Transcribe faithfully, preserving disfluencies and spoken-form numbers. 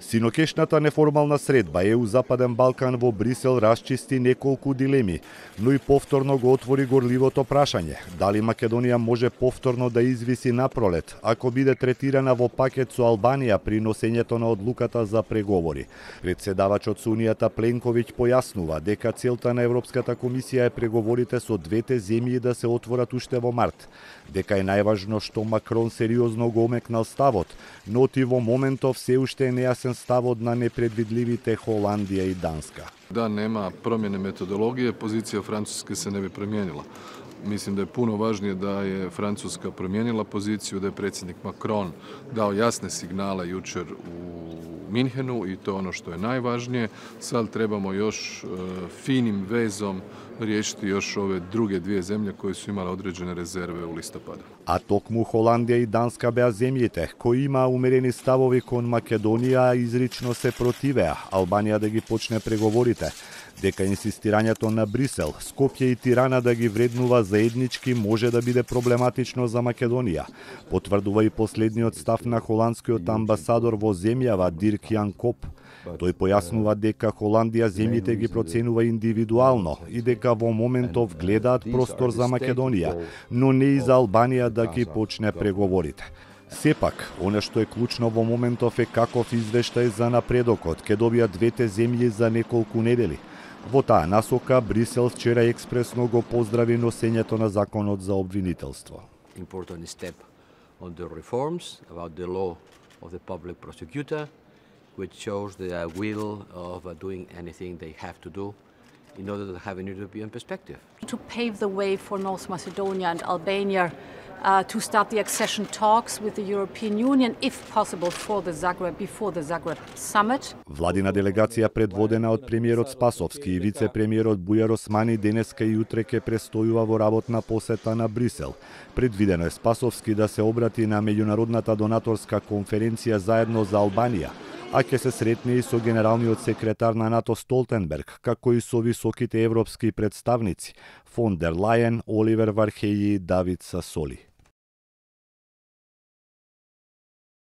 Синокешната неформална средба е у Западен Балкан во Брисел расчисти неколку дилеми, но и повторно го отвори горливото прашање дали Македонија може повторно да извиси напролет ако биде третирана во пакет со Албанија при носењето на одлуката за преговори. Председавачот со Унијата Пленковиќ појаснува дека целта на Европската комисија е преговорите со двете земји да се отворат уште во март, дека е најважно што Макрон сериозно го омекнал ставот, но ти во моментов се уште е нејасен ставот на непредвидливите Холандија и Данска. Да нема промjene metodologije, pozicija Francuske se ne bi promijenila. Mislim da je puno važnije da je Francuska promijenila poziciju, da je predsjednik Macron dao jasne signale jučer u Minhenu i to je ono što je najvažnije. Sad trebamo još uh, finim vezom riješiti još ove druge dvije zemlje koje su imale određene rezerve u listopadu. А токму Холандија и Данска беа земјите кои имаа умерени ставови кон Македонија, изрично се противеа Албанија да ги почне преговорите, дека инсистирањето на Брисел, Скопје и Тирана да ги вреднува заеднички може да биде проблематично за Македонија, потврдува и последниот став на холандскиот амбасадор во земјава Дирк Јан Коп. Тој појаснува дека Холандија земјите ги проценува индивидуално и дека во моментов гледаат простор за Македонија, но не и за Албанија да ги почне преговорите. Сепак, оно што е клучно во моментов е каков извештај за напредокот ќе добијат двете земји за неколку недели. Во таа насока Брисел вчера експресно го поздрави носењето на законот за обвинителство. Important step on the reforms about the law of the public prosecutor, which shows the will of doing anything they have to do in order to have an European perspective. To pave the way for North Macedonia and Albania uh, to start the accession talks with the European Union, if possible, for the Zagreb, before the Zagreb summit. Владина делегација предводена од премиерот Спасовски и вице-премиерот Бујар Османи денеска и утре ќе престојува во работна посета на Брисел. Предвидено е Спасовски да се обрати на меѓународната донаторска конференција заедно за Албанија, а ќе се сретне и со генералниот секретар на НАТО Столтенберг, како и со високите европски представници Фон дер Лајен, Оливер Вархеји и Давид Сасоли.